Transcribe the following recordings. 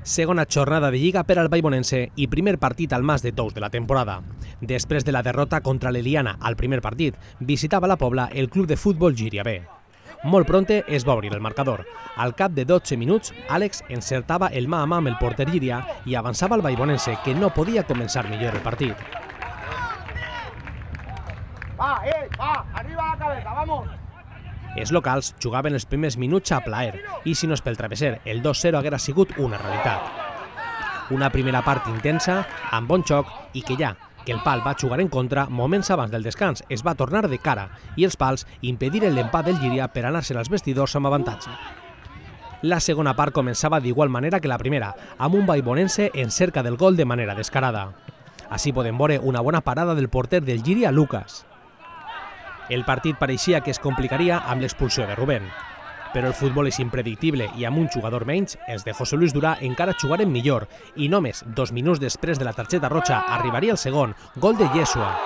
Segona jornada de Lliga per al Vallbonense i primer partit al Mas de Tous de la temporada. Després de la derrota contra l'Eliana al primer partit, visitava la Pobla el club de futbol Llíria B. Molt pronte es va obrir el marcador. Al cap de 12 minuts, Àlex encertava el mà a mà amb el porter Llíria i avançava el Vallbonense, que no podia començar millor el partit. Va, arriba la cabeza, vamos! Els locals jugaven els primers minuts a plaer i, si no és pel travesser, el 2-0 haguera sigut una realitat. Una primera part intensa, amb bon xoc, i que ja que el pal va jugar en contra, moments abans del descans es va tornar de cara i els pals impediren l'empat del Llíria per anar-se als vestidors amb avantatge. La segona part començava d'igual manera que la primera, amb un Vallbonense en cerca del gol de manera descarada. Així podem veure una bona parada del porter del Llíria, Lucas. El partit pareixia que es complicaria amb l'expulsió de Rubén. Però el futbol és impredictible i amb un jugador menys, els de José Luis Durà encara jugaren millor i només 2 minuts després de la targeta roja arribaria el segon, gol de Yeshua.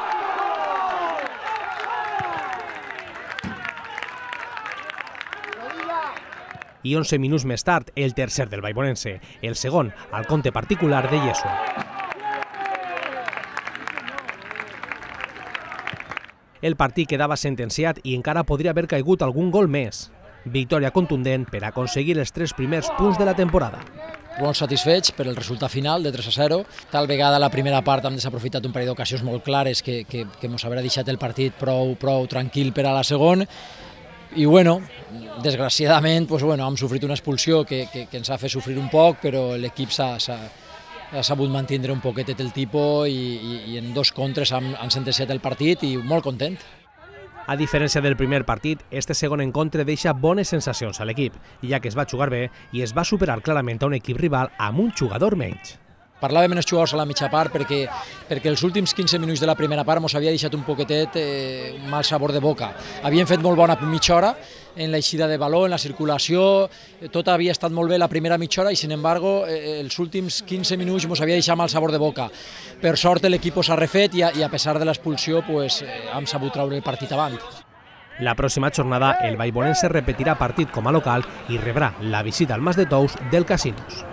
I 11 minuts més tard, el tercer del Vallbonense, el segon al compte particular de Yeshua. El partit quedava sentenciat i encara podria haver caigut algun gol més. Victòria contundent per aconseguir els 3 primers punts de la temporada. Molt satisfets per el resultat final de 3-0. Tal vegada a la primera part hem desaprofitat un parell d'ocasions molt clares que ens haurà deixat el partit prou tranquil per a la segona. I bueno, desgraciadament hem sofrit una expulsió que ens ha fet sofrir un poc, però l'equip s'ha sabut mantenir un poquetet el tipus i en 2 contres han sentenciat el partit i molt content. A diferència del primer partit, este segon encontre deixa bones sensacions a l'equip, ja que es va jugar bé i es va superar clarament a un equip rival amb un jugador menys. Parlàvem amb els jugadors a la mitja part perquè els últims 15 minuts de la primera part ens havia deixat un poquetet un mal sabor de boca. Havíem fet molt bona mitja hora en l'eixida de baló, en la circulació, tot havia estat molt bé la primera mitja hora i, sin embargo, els últims 15 minuts ens havia deixat mal sabor de boca. Per sort l'equip s'ha refet i a pesar de l'expulsió hem sabut treure el partit avant. La pròxima jornada el Vallbonense repetirà partit com a local i rebrà la visita al Mas de Tous del Casinos.